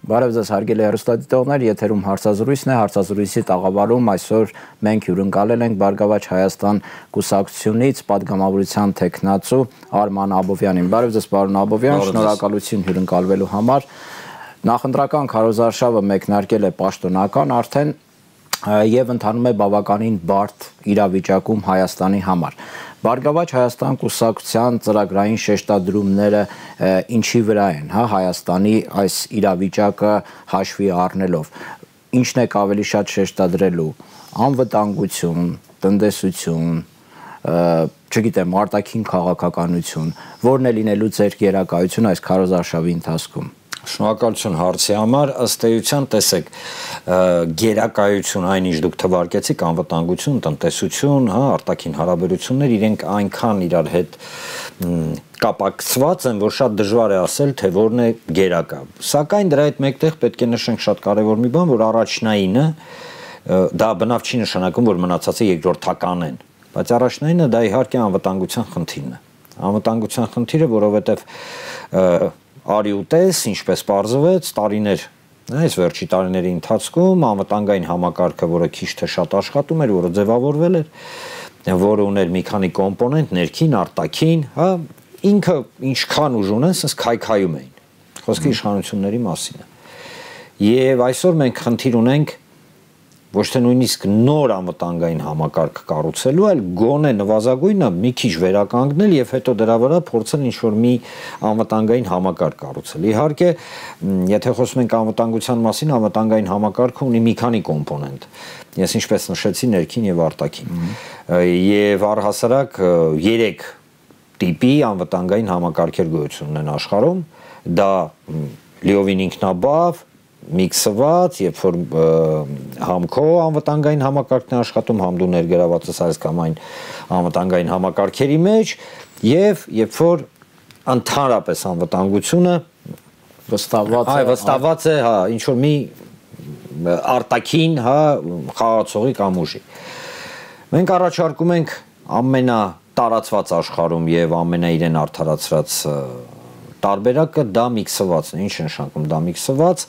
Բարև ձեզ հարգելի հեռուստադիտողներ, եթերում հարցազրույցն է, հարցազրույցի տաղավարում այսօր մենք հյուրընկալել ենք Բարգավաճ Հայաստան կուսակցությունից պատգամավորության տեխնացու Արման Աբովյանին։ Բարև ձեզ պարոն Աբովյան, շնորհակալություն հյուրընկալվելու համար։ Նախընտրական քարոզարշավը մեկնարկել է պաշտոնական արդեն եւ ընթանում է բավականին բարդ իրավիճակում Հայաստանի համար։ Բարգավաճ Հայաստան կուսակցության ծրագրային շեշտադրումները ինչի վրա են, հա, Հայաստանի այս իրավիճակը հաշվի առնելով, ինչն է ավելի շատ շեշտադրելու, անվտանգություն, տնտեսություն, չգիտեմ, արտաքին քաղաքականություն, որն է լինելու ձեր գերակայություն այս քարոզարշավի ընթացքում։ Շնորհակալություն հարցի համար, ըստ էության, տեսեք, գերակայություն այնինչ դուք թվարկեցիք, անվտանգություն, տնտեսություն, հա, արտաքին հարաբերություններ, իրենք այնքան իրար հետ կապակցված են, որ շատ դժվար է ասել, թե որն է գերակա։ Սակայն դրա հետ մեկտեղ պետք է նշենք շատ կարևոր մի բան, որ առաջնայինը դա բնավ չի նշանակում, որ մնացածը երկրորդական են, բայց առաջնայինը դա իհարկե անվտանգության խնդիրն է։ Անվտանգության խնդիրը, որովհետև արի ու տես, ինչպես պարզվեց, տարիներ, այս վերջի տարիների ընթացքում անվտանգային համակարգը, որը քիչ թե շատ աշխատում էր, որը ձևավորվել էր, որը ուներ մի քանի կոմպոնենտ, ներքին, արտաքին, հա, ինքը ինչքան ուժ ունեն, ասես քայքայում էին։ Խոսքը իշխանությունների մասին է։ Եվ այսօր մենք խնդիր ունենք ոչ թե նույնիսկ նոր անվտանգային համակարգ կառուցելու, այլ գոնե նվազագույնը մի քիչ վերականգնել եւ հետո դրա վրա փորձել ինչ-որ մի անվտանգային համակարգ կառուցել։ Իհարկե, եթե խոսում ենք անվտանգության մասին, անվտանգային համակարգը ունի մի քանի կոմպոնենտ։ Ես ինչպես նշեցի, ներքին եւ արտաքին։ Եվ առհասարակ 3 տիպի անվտանգային համակարգեր գոյություն ունեն աշխարհում։ Դա լիովին ինքնաբավ, միքսված, երբ որ համքո անվտանգային համակարգն է աշխատում, համ դու ներգրաված ես այս կամ այն անվտանգային համակարգերի մեջ, եւ երբ որ ընդհանրապես անվտանգությունը վստահված է, հա, ինչ որ մի արտաքին, հա, խաղացողի կամ ուժի։ Մենք առաջարկում ենք ամենատարածված աշխարհում եւ ամենաիրեն արդարացրած տարբերակը դա միքսվածն է, ինչ է նշանակում դա միքսված,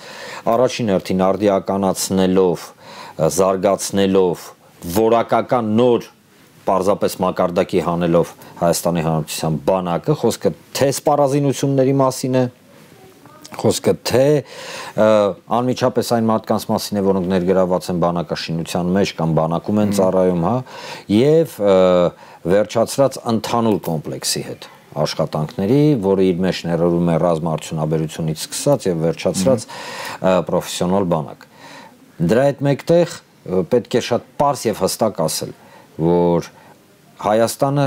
առաջին հերթին արդիականացնելով, զարգացնելով, որակական նոր պարզապես մակարդակի հանելով Հայաստանի Հանրապետության բանակը, խոսքը թե սպառազինությունների մասին է, խոսքը թե անմիջապես այն մարդկանց մասին է, որոնք ներգրաված են բանակաշինության մեջ կամ բանակում են ծառայում, հա, եւ վերջացրած ընդհանուր կոմպլեքսի հետ աշխատանքների, որը իր մեջ ներառում է ռազմաարդյունաբերությունից սկսած եւ վերջացրած պրոֆեսիոնալ բանակ։ Դրա հետ մեկտեղ պետք է շատ պարզ եւ հստակ ասել, որ Հայաստանը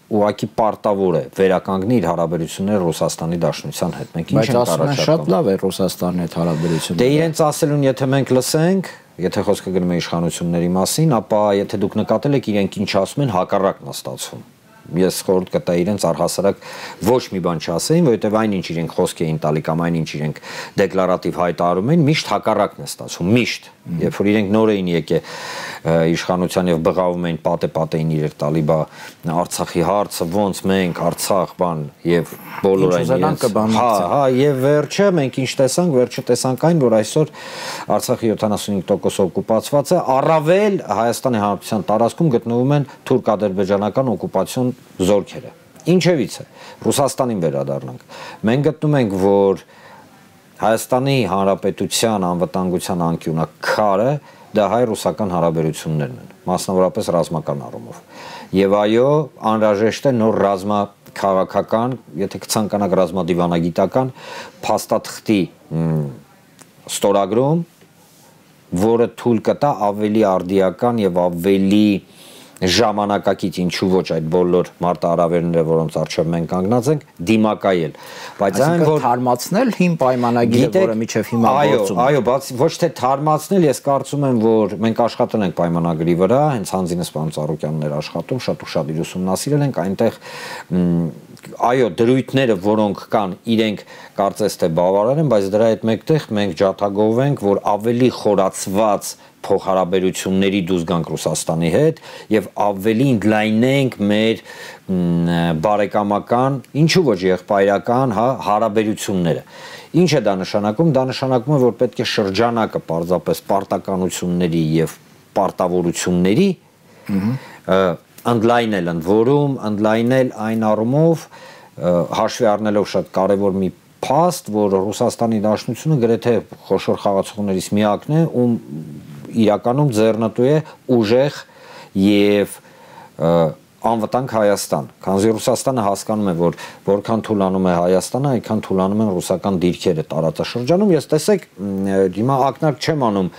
ուղղակի պարտավոր է վերականգնի իր հարաբերությունները Ռուսաստանի Դաշնության հետ։ Մենք ինչ ենք առաջարկում։ Բայց շատ լավ է Ռուսաստանի հետ հարաբերությունները։ Դե իրենց ասելուն եթե մենք լսենք, եթե խոսքը գնում է իշխանությունների մասին, ապա եթե դուք նկատել եք իրենք ինչ ասում են, հակառակն է ստացվում։ Ես խորհուրդ կտայի իրենց առհասարակ ոչ մի բան չասեին, որովհետև այնինչ իրենք խոսք էին տալի կամ այնինչ իրենք դեկլարատիվ հայտարարում էին, միշտ հակառակն է ստացվում, միշտ։ Երբ որ իրենք նոր էին եկել իշխանության եւ բղավում էին պատե-պատե էին իրեր տալի, բա Արցախի հարցը ոնց մենք Արցախ բան եւ բոլոր այն հա եւ վերջը մենք ինչ տեսանք, վերջը տեսանք այն, որ այսօր Արցախի 75% օկուպացված է, առավել Հայաստանի Հանրապետության տարածքում գտնվում են թուրք-ադրբեջանական օկուպացիոն զորքերը։ Ինչևից է, Ռուսաստանին վերադառնանք։ Մենք գտնում ենք, որ Հայաստանի Հանրապետության անվտանգության անկյունը քարը դա հայ-ռուսական հարաբերություններն են, մասնավորապես ռազմական առումով։ Եվ այո, անհրաժեշտ է նոր ռազմաքաղաքական, եթե կցանկանաք ռազմադիվանագիտական փաստաթղթի ստորագրում, որը թույլ կտա ավելի արդիական եւ ավելի ժամանակակից, ինչու ոչ այդ բոլոր մարտահրավերները, որոնց առջև մենք կանգնած ենք, դիմակայել։ Բայց այն որ թարմացնել հիմ պայմանագիրը, որը միջև հիմա գործում է։ Այո, բայց ոչ թե թարմացնել, ես կարծում եմ, որ մենք աշխատել ենք պայմանագրի վրա, հենց Հանձինես պարոն Ծառուկյանն էր աշխատում, շատ ու շատ իր ուսումնասիրել ենք, այնտեղ այո, դրույթները, որոնք կան, իրենք կարծես թե բավարար են, բայց դրա հետ մեկտեղ մենք ջաթագովենք, որ ավելի խորացված փոխհարաբերությունների դուրս գանք Ռուսաստանի հետ եւ ավելի ընդլայնենք մեր բարեկամական, ինչու ոչ եղբայրական, հարաբերությունները։ Ինչ է դա նշանակում։ Դա նշանակում է, որ պետք է շրջանակը պարզապես պարտականությունների եւ պարտավորությունների ընդլայնել ընդ որում, ընդլայնել այն առումով հաշվի առնելով շատ կարևոր մի փաստ, որ Ռուսաստանի Դաշնությունը գրեթե խոշոր խաղացողներից միակն է, ում իրականում ձեռնտու է ուժեղ եւ անվտանգ Հայաստան, քանզի Ռուսաստանը հասկանում է, որ որքան թուլանում է Հայաստանը, այնքան թուլանում են ռուսական դիրքերը տարածաշրջանում։ Ես տեսեք, հիմա ակնարկ չեմ անում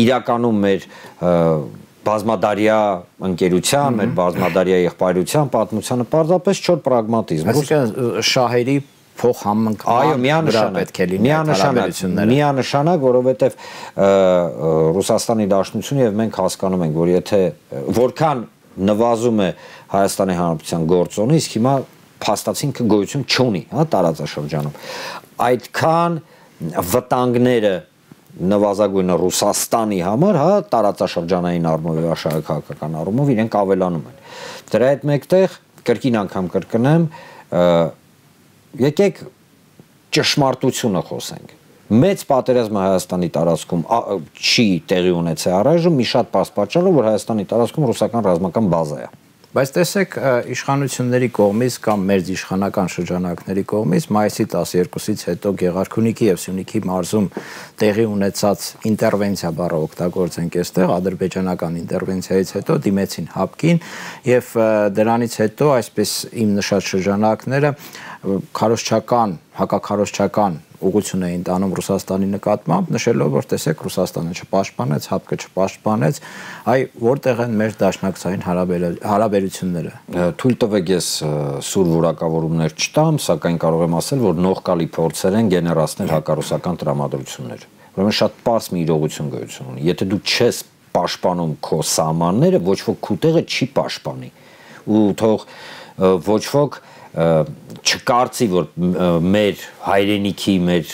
իրականում մեր բազմադարյա ընկերության, մեր բազմադարյա եղբայրության պատմությանը, պարզապես չոր պրագմատիզմ։ Այսինքն շահերի փոխհամընկման վրա պետք է լինի միանշանակ, որովհետև Ռուսաստանի Դաշնությունը եւ մենք հասկանում ենք, որ եթե որքան նվազում է Հայաստանի Հանրապետության գործոնը, իսկ հիմա փաստացին գոյություն չունի, հա, տարածաշրջանում, այդքան վտանգները նվազագույնը Ռուսաստանի համար, հա, տարածաշրջանային առումով եւ աշխարհակահաղական առումով իրենք ավելանում են։ Դրա հետ մեկտեղ կրկին անգամ կրկնեմ, եկեք ճշմարտությունը խոսենք։ Մեծ պատերազմը Հայաստանի տարածքում չի տեղի ունեցել առայժմ մի շատ պարզ պատճառով, որ Հայաստանի տարածքում ռուսական ռազմական բազա է։ Բայց տեսեք, իշխանությունների կողմից կամ մեր իշխանական շրջանակների կողմից մայիսի 12-ից հետո Գեղարքունիքի եւ Սյունիքի մարզում տեղի ունեցած ինտերվենցիա բառը օգտագործենք այստեղ, ադրբեջանական ինտերվենցիայից հետո դիմեցին ՀԱՊԿ-ին եւ դրանից հետո այսպես իմ նշած շրջանակները քարոզչական, հակաքարոզչական ուղղություն էին տանում Ռուսաստանի նկատմամբ, նշելով, որ տեսեք Ռուսաստանը չպաշտպանեց, ՀԱՊԿ-ը չպաշտպանեց, այ որտեղ են մեր դաշնակցային հարաբերությունները։ Թույլ տվեք ես սուր որակավորումներ չտամ, սակայն կարող եմ ասել, որ նողկալի փորձեր են գեներացնել հակառուսական տրամադրություններ։ Ուրեմն շատ պարզ մի իրողություն գոյություն ունի։ Եթե դու չես պաշտպանում քո սահմանները, ոչ ոք քո տեղը չի պաշտպանի։ Ու թող ոչ ոք չկարծի, որ մեր հայրենիքի, մեր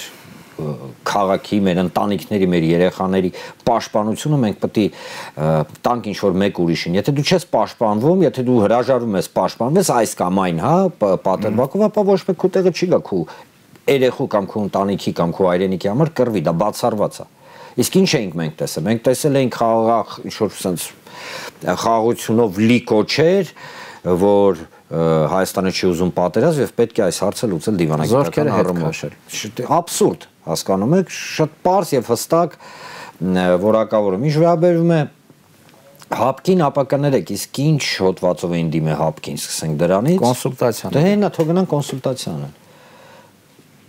քաղաքի, մեր ընտանիքների, մեր երեխաների պաշտպանությունը մենք պետք է տանք ինչ-որ մեկ ուրիշին։ Եթե դու չես պաշտպանվում, եթե դու հրաժարվում ես պաշտպանվես այս կամ այն, հա, պատերբակով, ապա ոչ մեկ քո տեղը չի գա քո երեխու կամ քո ընտանիքի կամ քո հայրենիքի համար կռվի, դա բացառված է։ Իսկ ինչ էինք մենք տեսել։ Մենք տեսել էինք խաղաղ ինչ-որ sense խաղաղությունով լի կոչեր, որ Հայաստանը չի ուզում պատերազմ եւ պետք է այս հարցը լուծել դիվանագիտական առումով։ Աբսուրդ, հասկանում եք, շատ պարզ եւ հստակ որակավորում։ Ինչ վերաբերում է ՀԱՊԿ-ին, ապա կներեք, իսկ ինչ հոդվածով էին դիմել ՀԱՊԿ-ին, սկսենք դրանից։ Կոնսուլտացիան։ Դե հենա թող գնան կոնսուլտացիան։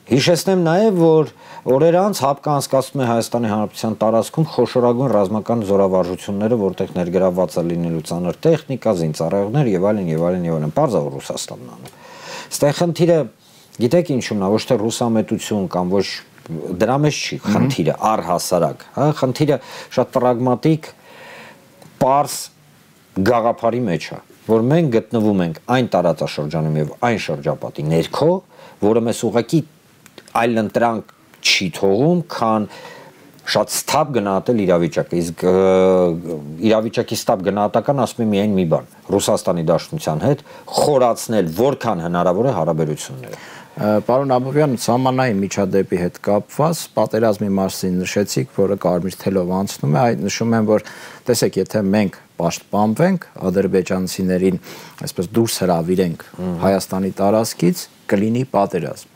Հիշեցնեմ նաև, որ օրեր անց ՀԱՊԿ-ը անցկացնում է Հայաստանի Հանրապետության տարածքում խոշորագույն ռազմական զորավարժությունները, որտեղ ներգրավված է լինելու ծանր տեխնիկա, զինծառայողներ եւ այլն եւ այլն եւ այլն։ Պարզավ Ռուսաստանն անում։ Այստեղ խնդիրը, գիտեք ինչու՞մն է, ոչ թե ռուսամետություն կամ ոչ դրա մեջ չի խնդիրը, առհասարակ, հա, խնդիրը շատ պրագմատիկ, պարզ գաղափարի մեջ է, որ մենք գտնվում ենք այն տարածաշրջանում եւ այն շրջապատի ներքո, որը մեզ ուղղակի այլ ընտրանք չի թողում, քան շատ ստապ գնահատել իրավիճակը, իսկ իրավիճակի ստապ գնահատական ասում է միայն մի բան՝ Ռուսաստանի Դաշնության հետ խորացնել որքան հնարավոր է հարաբերությունները։ Պարոն Աբովյան, սահմանային միջադեպի հետ կապված պատերազմի մասին նշեցիք, որը կարմիր թելով անցնում է, այդ նշում եմ, որ տեսեք, եթե մենք պաշտպանվենք, ադրբեջանցիներին այսպես դուրս հրավիրենք Հայաստանի տարածքից, կլինի պատերազմ։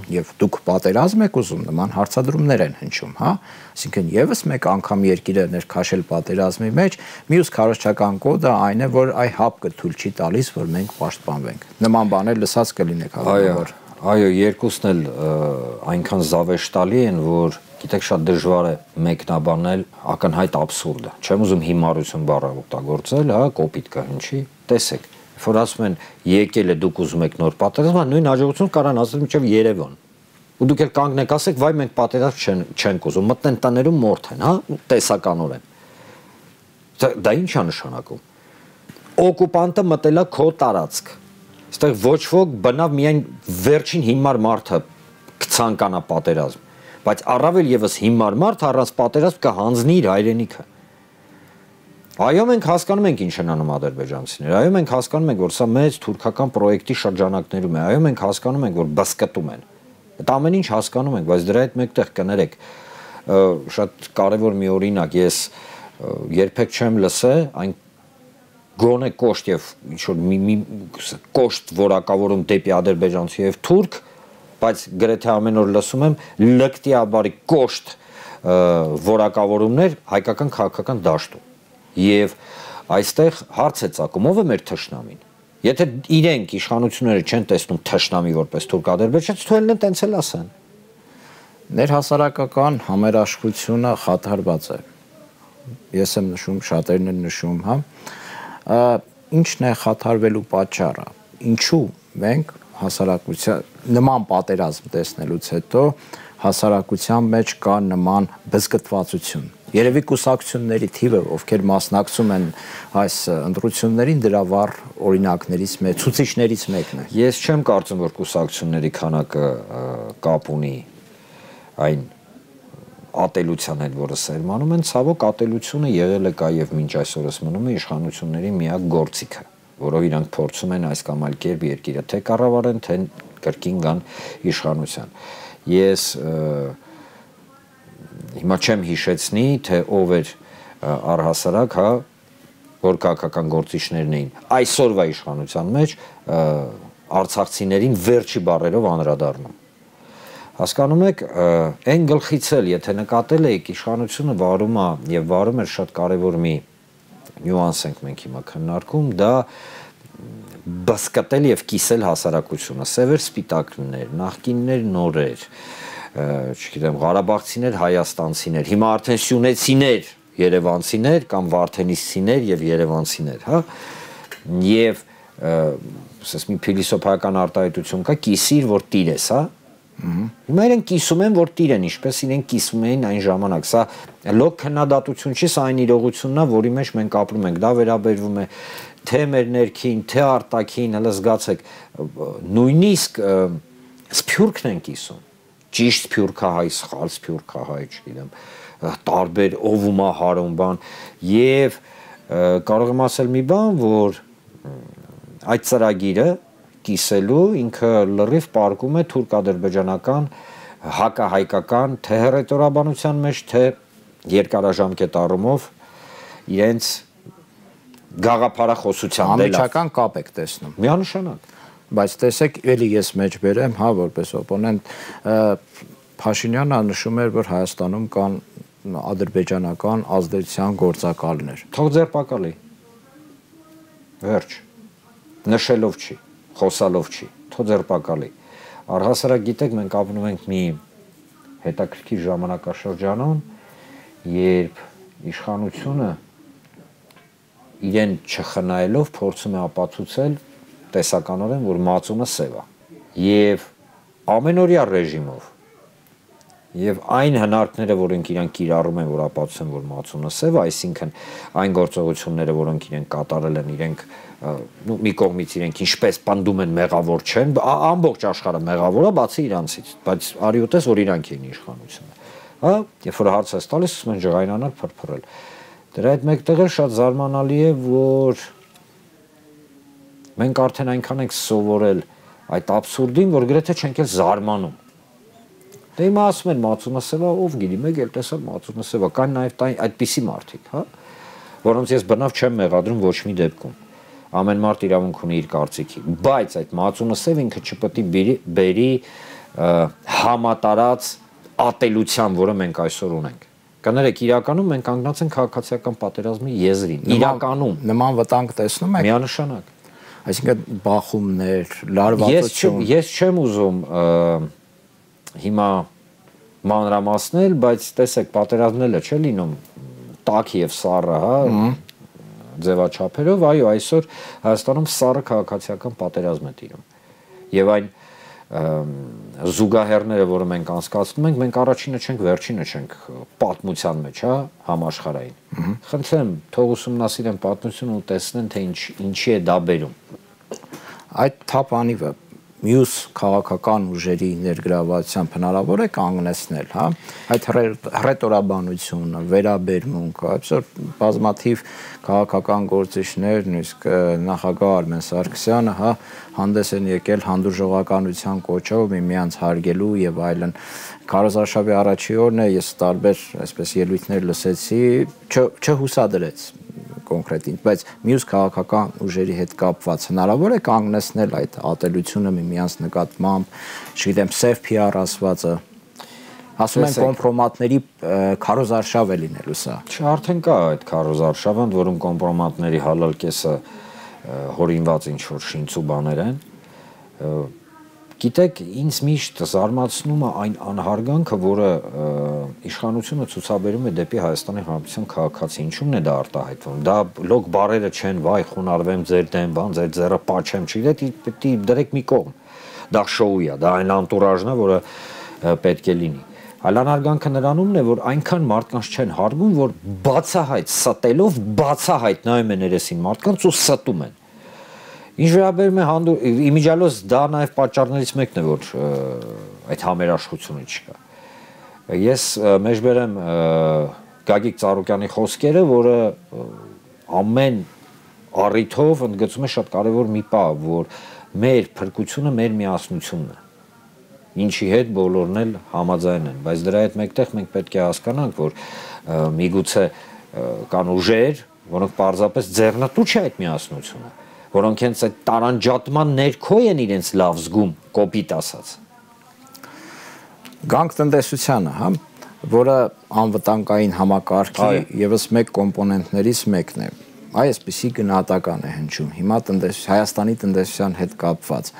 Եվ դուք պատերազմ եք ուզում, նման հարցադրումներ են հնչում, հա։ Այսինքն եւս մեկ անգամ երկիրը ներքաշել պատերազմի մեջ, մյուս քարոզչական կոդը այն է, որ այ ՀԱՊԿ-ը թույլ չի տալիս, որ մենք պաշտպանվենք։ Նման բաներ լսած կլինեք հավանաբար։ Այո, երկուսն էլ այնքան զավեշտալի են, որ գիտեք շատ դժվար է մեկնաբանել ակնհայտ աբսուրդը։ Չեմ ուզում հիմարություն բառը օգտագործել, հա, կոպիտ կհնչի։ Տեսեք, որ ասում են եկել է դուք ուզում եք նոր պատերազմ, նույն հաջողություն կարան ասել մինչև Երևան։ Ու դուք էլ կանգնեք ասեք, վայ մենք պատերազմ չենք ուզում, մտնեն տներում մորթ են, հա, տեսականորեն։ Դա ինչ է նշանակում։ Օկուպանտը մտել է քո տարածք։ Այստեղ ոչ ոք բնավ միայն վերջին հիմար մարդը կցանկանա պատերազմ, բայց առավել եւս հիմար մարդ առանց պատերազմ կհանձնի իր հայրենիքը։ Այո, մենք հասկանում ենք ինչ են անում ադրբեջանցիները, այո, մենք հասկանում ենք, որ սա մեծ թուրքական պրոյեկտի շրջանակներում է, այո, մենք հասկանում ենք, որ բսկտում են։ Այդ ամեն ինչ հասկանում ենք, բայց դրա հետ մեկտեղ կներեք, շատ կարևոր մի օրինակ, ես երբեք չեմ լսել այն գոնե կոշտ եւ ինչ որ մի կոշտ որակավորում դեպի ադրբեջանցի եւ թուրք, բայց գրեթե ամեն օր լսում եմ լկտիաբարի կոշտ որակավորումներ հայկական քաղաքական դաշտում։ Եվ այստեղ հարց է ծագում, ով է մեր թշնամին։ Եթե իրենք իշխանությունները չեն տեսնում թշնամի որպես թուրք-ադրբեջանց, թույլն տենց էլ ասեն։ Ներհասարակական համերաշխությունը խաթարված է։ Ես եմ նշում, շատերն են նշում, հա։ Ինչն է խաթարվելու պատճառը։ Ինչու մենք հասարակության նման պատերազմ տեսնելուց հետո հասարակության մեջ կա նման բզկտվածություն։ Երևի կուսակցությունների թիվը, ովքեր մասնակցում են այս ընտրություններին, դրա վառ օրինակներից մեկ, ցուցիչներից մեկն է։ Ես չեմ կարծում, որ կուսակցությունների քանակը կապ ունի այն ատելության հետ, որը սերմանում են, ցավոք ատելությունը եղել է կա եւ մինչ այսօրս մնում է իշխանությունների միակ գործիքը, որով իրանք փորձում են այս կամ այլ կերպ երկիրը թե կառավարեն, թե կրկին գան իշխանության։ Ես հիմա չեմ հիշեցնի, թե ով էր առհասարակ, հա, որ քաղաքական գործիչներն էին այսօրվա իշխանության մեջ արցախցիներին վերջի բառերով անդրադառնում։ Հասկանում եք, այն գլխից էլ, եթե նկատել եք, իշխանությունը վարում է եւ վարում էր շատ կարեւոր մի նյուանս ենք մենք հիմա քննարկում, դա բսկտել եւ կիսել հասարակությունը, սևեր սպիտակներ, նախկիններ նորեր, չգիտեմ, Ղարաբաղցիներ, հայաստանցիներ, հիմա արդեն սյունեցիներ, երևանցիներ կամ վարդենիսցիներ եւ երևանցիներ, հա։ Եվ ասես մի փիլիսոփայական արտահայտություն կա, կիսիր, որ տիր ես, հա։ Հիմա իրենք կիսում են, որ տիր են, ինչպես իրենք կիսում էին այն ժամանակ։ Սա լոկ քննադատություն չի, սա այն իրողությունն է, որի մեջ մենք ապրում ենք։ Դա վերաբերվում է թե մեր ներքին, թե արտաքին, հələ զգացեք, նույնիսկ սփյուռքն են կիսում։ Ճիշտ սփյուռքահայ, սխալ սփյուռքահայ, չգիտեմ, տարբեր ովումա հարում բան, եւ կարող եմ ասել մի բան, որ այդ ծրագիրը կիսելու ինքը լրիվ պարկում է թուրք-ադրբեջանական հակահայկական թե հռետորաբանության մեջ, թե երկարաժամկետ առումով իրենց գաղափարախոսության անմիջական կապ եք տեսնում։ Միանշանակ։ Բայց տեսեք, էլի ես մեջ բերեմ, հա, որպես օպոնենտ, Փաշինյանը նշում էր, որ Հայաստանում կան ադրբեջանական ազդեցության գործակալներ։ Թող ձերբակալի։ Վերջ։ Նշելով չի, խոսալով չի, թող ձերբակալի։ Առհասարակ գիտեք, մենք ապրում ենք մի հետաքրքիր ժամանակաշրջանում, երբ իշխանությունը իրեն չխնայելով փորձում է ապացուցել տեսականորեն, որ մածունը սև է եւ ամենօրյա ռեժիմով եւ այն հնարքները, որոնք իրենք կիրառում են, որ ապացուցեն, որ մածունը սև է, այսինքն այն գործողությունները, որոնք իրենք կատարել են, իրենք մի կողմից իրենք ինչպես պնդում են մեղավոր չեն, ամբողջ աշխարհը մեղավոր է, բացի իրանցից, բայց արի ուտես, որ իրանք էին իշխանությունը, հա, երբ որ հարց է տալիս, ասում են ջղայնանալ, փրփրել։ Դրա հետ մեկտեղ էլ շատ զարմանալի է, որ մենք արդեն այնքան ենք սովորել այդ աբսուրդին, որ գրեթե չենք էլ զարմանում։ Դե հիմա ասում են մածունը սև է, ով գիտի, մեկ էլ տեսա մածունը սև է, կան նաև այդպիսի մարդիկ, հա, որոնց ես բնավ չեմ մեղադրում ոչ մի դեպքում։ Ամեն մարդ իրավունք ունի իր կարծիքի, բայց այդ մածունը սև ինքը չպետք է բերի համատարած ատելության, որը մենք այսօր ունենք։ Կներեք, իրականում մենք կանգնած ենք քաղաքացիական պատերազմի եզրին։ Իրականում նման վտանգ տեսնում եք։ Միանշանակ։ Այսինքն բախումներ, լարվածություն։ Ես չեմ ուզում հիմա մանրամասնել, բայց տեսեք, պատերազմները չէ լինում տաք եւ սառը, հա, ձևաչափերով, այո, այսօր Հայաստանում սառը քաղաքացիական պատերազմ է տիրում։ Եվ այն զուգահեռները, որը մենք անցկացնում ենք, մենք առաջինը չենք, վերջինը չենք պատմության մեջ, հա, համաշխարհային։ Խնդրեմ, թող ուսումնասիրեն պատմությունը ու տեսնեն, թե ինչի է դա բերում։ այդ թափանիվը մյուս քաղաքական ուժերի ներգրավվածությամբ հնարավոր է կանգնեցնել, հա, այդ հռետորաբանությունը, վերաբերմունքը, այսօր բազմաթիվ քաղաքական գործիչներ, նույնիսկ նախագահ Արմեն Սարգսյանը, հա, հանդես են եկել հանդուրժողականության կոչով միմյանց հարգելու եւ այլն։ Քարոզարշավի առաջի օրն է, ես տարբեր այսպես ելույթներ լսեցի, չհուսադրեց կոնկրետ, բայց մյուս քաղաքական ուժերի հետ կապված հնարավոր է կանգնեցնել այդ ատելությունը միմյանց նկատմամբ, չգիտեմ, սև PR ասվածը, ասում են կոմպրոմատների քարոզարշավ է լինելու սա։ Արդեն կա այդ քարոզարշավը, որում կոմպրոմատների հալալ կեսը հորինված ինչ-որ շինց ու բաներ են։ Գիտեք, ինձ միշտ զարմացնում է այն անհարգանքը, որը իշխանությունը ցուցաբերում է դեպի Հայաստանի Հանրապետության քաղաքացի, ինչու՞մն է դա արտահայտվում։ Դա լոկ բարերը չեն, վայ, խոնարհվեմ ձեր դեմ, բան, ձեր ձեռը պաչեմ, չգիտեք, պետք է դրեք մի կողմ։ Դա շոու է, դա այն անտուրաժն է, որը պետք է լինի։ Այլ անհարգանքը նրանումն է, որ այնքան մարդկանց չեն հարգում, որ բացահայտ ստելով, բացահայտ նայում են երեսին մարդկանց ու ստում են։ Ինչ վերաբերում է իմիջիալոց դա նաև պատճառներից մեկն է, որ այդ համերաշխությունը չկա։ Ես մեջբերեմ Գագիկ Ծառուկյանի խոսքերը, որը ամեն առիթով ընդգծում է շատ կարևոր մի բան, որ մեր փրկությունը մեր միասնությունն է, ինչի հետ բոլորն էլ համաձայն են, բայց դրա հետ մեկտեղ մենք պետք է հասկանանք, որ միգուցե կան ուժեր, որոնք պարզապես ձեռնտու չէ այդ միասնությունը, որոնք հենց այդ տարանջատման ներքո են իրենց լավ զգում, կոպիտ ասած։ Գանք տնտեսությանը, հա, որը անվտանգային համակարգի եւս մեկ կոմպոնենտներից մեկն է։ Այսպիսի գնահատական է հնչում հիմա Հայաստանի տնտեսության հետ կապված,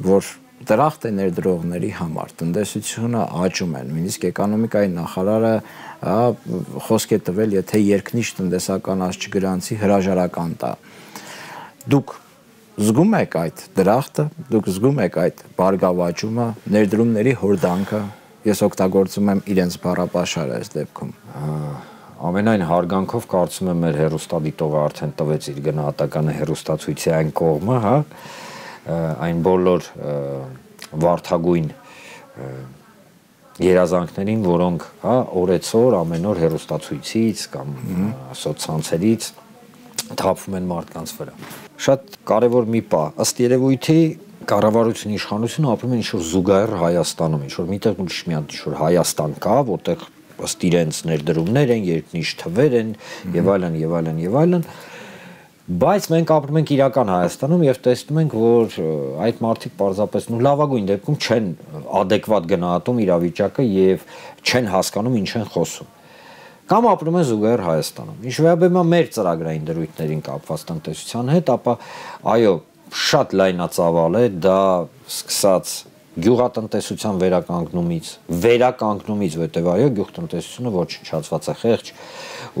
որ դրախտ է ներդրողների համար, տնտեսությունը աճում է, նույնիսկ էկոնոմիկայի նախարարը խոսք է տվել, եթե երկնիշ տնտեսական աճ-գրանցի հրաժարական տա։ Դուք զգում եք այդ դրախտը, դուք զգում եք այդ բարգավաճումը, ներդրումների հորդանքը, ես օգտագործում եմ իրենց բառապաշարը այս դեպքում։ Ամենայն հարգանքով կարծում եմ մեր հերոստատիտողը արդեն տվեց իր գնահատականը հերոստացույցի այն կողմը, հա, այն բոլոր վարդագույն երազանքներին, որոնք, հա, օրեցօր ամեն օր հերոստացույցից կամ սոցցանցերից թափվում են մարդկանց վրա։ Շատ կարևոր մի բան, ըստ երևույթի կառավարության իշխանությունը ապրում է ինչ-որ զուգահեռ Հայաստանում, ինչ-որ միտեղ ուրիշ մի հատ ինչ-որ Հայաստան կա, որտեղ ըստ իրենց ներդրումներ են, երկնիշ թվեր են եւ այլն եւ այլն եւ այլն, բայց մենք ապրում ենք իրական Հայաստանում եւ տեսնում ենք, որ այդ մարդիկ պարզապես լավագույն դեպքում չեն adekvat գնահատում իրավիճակը եւ չեն հասկանում ինչ են խոսում։ Կամ ապրում են զուգահեռ Հայաստանում։ Ինչ վերաբերում է մեր ծրագրային դրույթներին կապված տնտեսության հետ, ապա այո, շատ լայնածավալ է, դա սկսած գյուղատնտեսության վերականգնումից, որտեղ այո, գյուղատնտեսությունը ոչնչացված է, խեղճ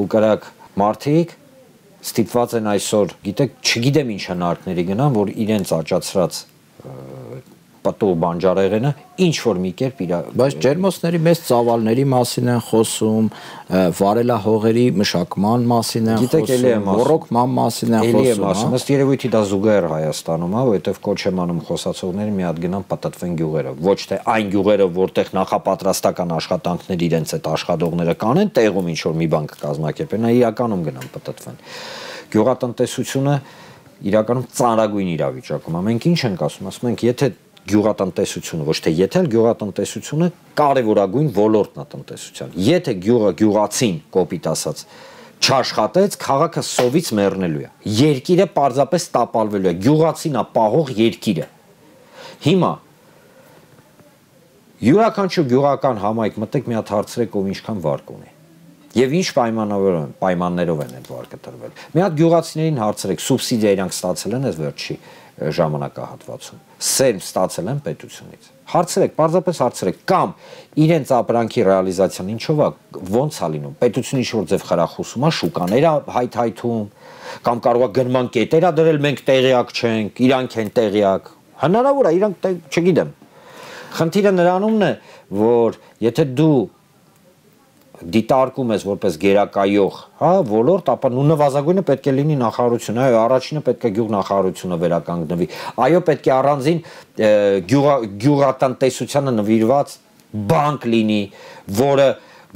ու կրակ մարդիկ ստիպված են այսօր, գիտեք, չգիտեմ ինչ հնարքների գնան, որ իրենց աճացրած պատու բանջարեղենը ինչ որ մի կերպ իր բայց ջերմոցների մեծ ծավալների մասին են խոսում, վարելահողերի մշակման մասին են խոսում, ռոռոկման մասին են խոսում, ըստ երևույթի դա զուգահեռ Հայաստանում է, որովհետև կոչ եմ անում խոսացողները մի հատ գնան պատտվեն գյուղերը, ոչ թե այն գյուղերը, որտեղ նախապատրաստական աշխատանքներ իրենց այդ աշխատողները կանեն, տեղում ինչ որ մի բան կկազմակերպեն, իրականում գնան պատտվեն։ Գյուղատնտեսությունը իրականում ծանրագույն իրավիճակում է։ Մենք ինչ ենք ասում, ասում ենք, եթե գյուղատնտեսությունը, ոչ թե եթե գյուղատնտեսությունը կարևորագույն ոլորտն է տնտեսության։ Եթե գյուղացին, կոպիտ ասած, չաշխատեց, քաղաքը սովից մեռնելու է։ Երկիրը պարզապես տապալվելու է։ Գյուղացին է պահող երկիրը։ Հիմա յուրաքանչյուր գյուղական համայնք մտեք մի հատ հարցրեք, ով ինչքան վարկ ունի։ Եվ ինչ պայմաններով են այդ վարկը տրվել։ Մի հատ գյուղացիներին հարցրեք, սուբսիդիա իրանք ստացել են այս վերջի ժամանակահատվածում։ Սերմ ստացել են պետությունից։ Հարցրեք, պարզապես հարցրեք, կամ իրենց ապրանքի ռեալիզացիան ինչով է, ոնց է լինում։ Պետությունը ինչ-որ ձև խրախուսում է, շուկաներ է հայթայթում, կամ կարող է գնման կետեր է դրել, մենք տեղյակ չենք, իրանք են տեղյակ։ Հնարավոր է, իրանք չգիտեմ։ Խնդիրը նրանումն է, որ եթե դու դիտարկում ես որպես գերակայող, հա, ոլորտ, ապա նու նվազագույնը պետք է լինի նախարարությունը, այո, առաջինը պետք է գյուղնախարարությունը վերականգնվի։ Այո, պետք է առանձին գյուղատնտեսությանը նվիրված բանկ լինի, որը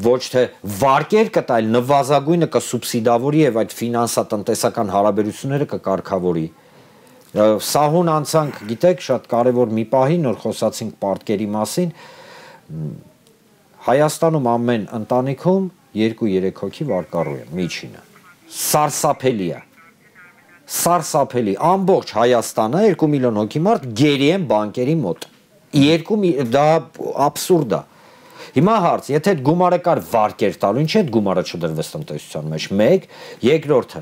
ոչ թե վարկեր կտայլ, նվազագույնը կսուբսիդավորի եւ այդ ֆինանսատնտեսական հարաբերությունները կկարգավորի։ Սահուն անցանք, գիտեք, շատ կարևոր մի պահի, նոր խոսացինք պարտքերի մասին, Հայաստանում ամեն ընտանիքում 2-3 հոգի վարկառու է, միջինը։ Սարսափելի է։ Սարսափելի, ամբողջ Հայաստանը 2 միլիոն հոգի մարդ գերի են բանկերի մոտ։ Դա աբսուրդ է։ Հիմա հարց, եթե այդ գումարը կար վարկեր տալու, ինչ այդ գումարը չդրվեց տնտեսության մեջ։ 1, երկրորդը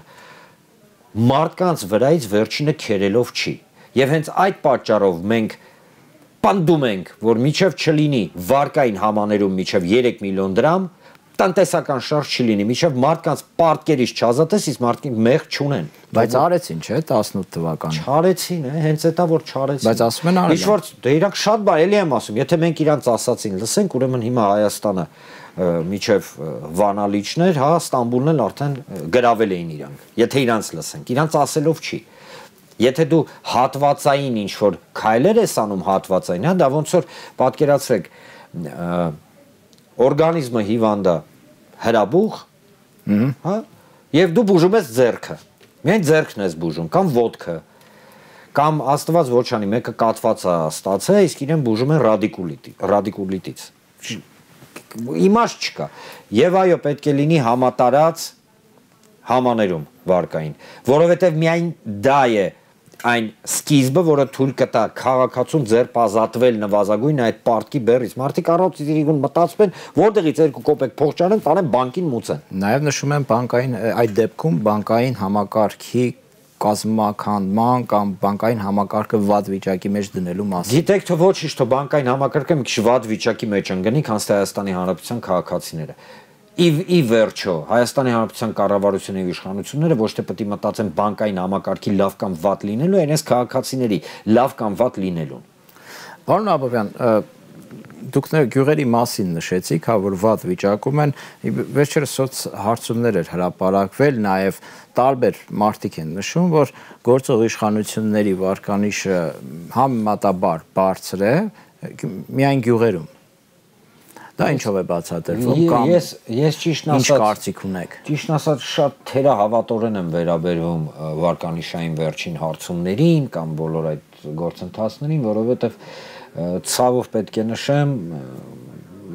մարդկանց վրայից վերջինը քերելով չի։ Եվ հենց այդ պատճառով մենք պնդում ենք, որ միջև չլինի վարկային համաներում միջև 3 միլիոն դրամ, տնտեսական շարժ չլինի, միջև մարդկանց պարտքերից չազատես, իսկ մարդիկ մեղ չունեն։ Բայց արեցին, չէ, 18 թվականին։ Չարեցին, հենց էտա որ չարեցին։ Բայց ասում են արել։ Ինչ-որ դե իրանք շատ բան էլի եմ ասում, եթե մենք իրանց ասացին, լսենք, ուրեմն հիմա Հայաստանը միջև Վանալիչներ, հա, Ստամբուլն էլ արդեն գրավել էին իրանք։ Եթե իրանց լսենք, իրանց ասելով չի։ Եթե դու հատվածային ինչ-որ քայլեր ես անում հատվածային, հա, դա ոնց որ պատկերացրեք, օրգանիզմը հիվանդ է հրաբուխ, հա, եւ դու բուժում ես ձեռքը։ Միայն ձեռքն ես բուժում, կամ ոտքը, կամ աստված ոչ անի, մեկը կատված է ստացել, իսկ իրեն բուժում են ռադիկուլիտից։ Իմաստ չկա։ Եվ այո, պետք է լինի համատարած համաներում վարկային, որովհետև միայն դա է այն սկիզբը, որը թույլ կտա քաղաքացուն ձեռք ազատվել նվազագույն այդ պարտքի բեռից։ Մարդիկ առողջություն մտածում են, որտեղից 2 կոպեկ փող ճանեն, տանեն բանկին մուծեն։ Նաև նշում են բանկային այդ դեպքում բանկային համակարգի կազմակերպման կամ բանկային համակարգը վատ վիճակի մեջ դնելու մասին։ Գիտեք թե ոչինչ, թե բանկային համակարգը մի քիչ վատ վիճակի մեջ ընկնի, քան Հայաստանի Հանրապետության քաղաքացիները։ Ի վերջո, Հայաստանի Հանրապետության կառավարությունը եւ իշխանությունները ոչ թե պետք է մտածեն բանկային համակարգի լավ կամ վատ լինելու, այնպես քաղաքացիների լավ կամ վատ լինելուն։ Պարոն Աբովյան, դուք գյուղերի մասին նշեցիք, հա, որ վատ վիճակում են, վերջերս հարցումներ էր հրապարակվել, նաև տարբեր մարդիկ են նշում, որ գործող իշխանությունների վարկանիշը համեմատաբար բարձր է, միայն գյուղերում։ Դա ինչով է բացատրվում կամ ես ճիշտն ասած ինչ կարծիք ունեք։ Ճիշտն ասած շատ թերահավատորեն եմ վերաբերվում վարկանիշային վերջին հարցումներին կամ բոլոր այդ գործընթացներին, որովհետև ցավով պետք է նշեմ,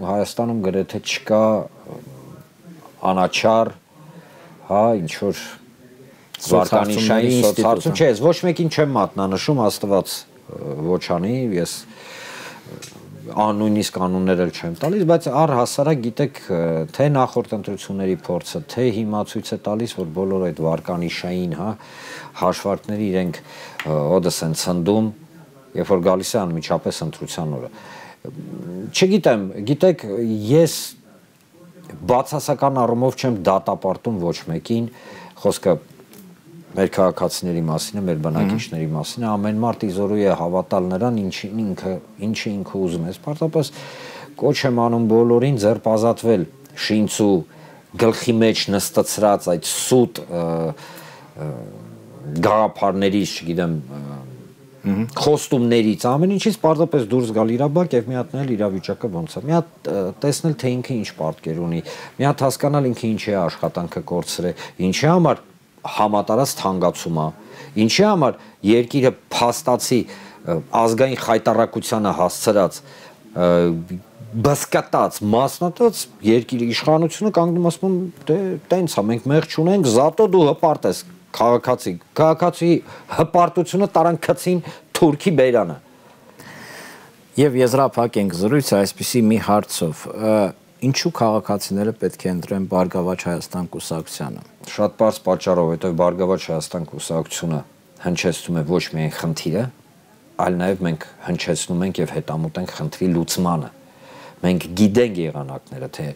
Հայաստանում գրեթե չկա անաչառ, հա, ինչ որ վարկանիշային սոցհարցում, չէ, ոչ մեկին չեմ մատնանշում, Աստված ոչ անի, ես նույնիսկ կանոններ էլ չեմ տալիս, բայց առհասարակ գիտեք, թե նախորդ ընտրությունների փորձը, թե հիմա ցույց է տալիս, որ բոլոր այդ վարկանիշային, հա, հաշվարկները իրենք օդս են ցնդում, երբ որ գալիս է անմիջապես ընտրության օրը։ Չգիտեմ, գիտեք, ես բացասական առումով չեմ դատապարտում ոչ մեկին, խոսքը մեր քաղաքացիների մասին է, մեր բնակիչների մասին է, ամեն մարդ իզորու է հավատալ նրան, ինչը ինքը ուզում է։ Պարզապես կոչ եմ անում բոլորին ձերբազատվել շինցու գլխի մեջ նստծրած այդ սուտ գաղափարներից, չգիտեմ, խոստումներից, ամեն ինչից պարզապես դուրս գալ իրավաբանք եւ մի հատ նայել իրավիճակը ոնց է։ Մի հատ տեսնել թե ինքը ինչ պարտքեր ունի, մի հատ հասկանալ ինքը ինչի է աշխատանքը կորցրել, ինչի համար համատարած թանկացում է, ինչի համար երկիրը փաստացի ազգային խայտարակությանը հասցրած բսկատած, մասնատած երկիրի իշխանությունը կանգնում ասում դե տենց է, մենք մեղ չունենք, զատո դու հպարտ ես քաղաքացի հպարտությունը տարան քցին թուրքի բերանը։ Եվ եզրափակ ենք զրույցը այսպիսի մի հարցով, ինչու քաղաքացիները պետք է ընտրեն Բարգավաճ Հայաստան կուսակցությանը։ Շատ պարզ պատճառով, որովհետև Բարգավաճ Հայաստան կուսակցությունը հնչեցնում է ոչ միայն խնդիրը, այլ նաև մենք հնչեցնում ենք եւ հետամուտ ենք խնդրի լուծմանը։ Մենք գիտենք եղանակները, թե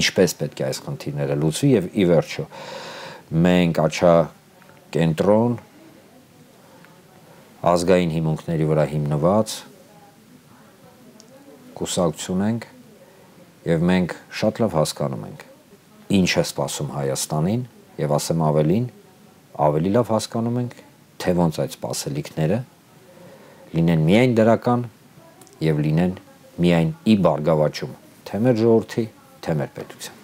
ինչպես պետք է այս խնդիրները լուծվի եւ ի վերջո մենք աչա կենտրոն ազգային հիմունքների վրա հիմնված կուսակցություն ենք եւ մենք շատ լավ հասկանում ենք ինչ է սպասում Հայաստանին եւ ասեմ ավելին, ավելի լավ հասկանում ենք, թե ոնց այդ սպասելիքները լինեն միայն դրական եւ լինեն միայն ի բարգավաճում թե մեր ժողովրդի, թե մեր պետության։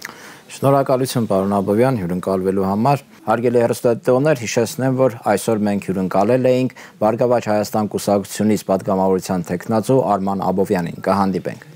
Շնորհակալություն պարոն Աբովյան հյուրընկալվելու համար։ Հարգելի հեռուստադիտողներ, հիշեցնեմ, որ այսօր մենք հյուրընկալել էինք Բարգավաճ Հայաստան կուսակցությունից պատգամավորության տեխնացու Արման Աբովյանին։ Կհանդիպենք։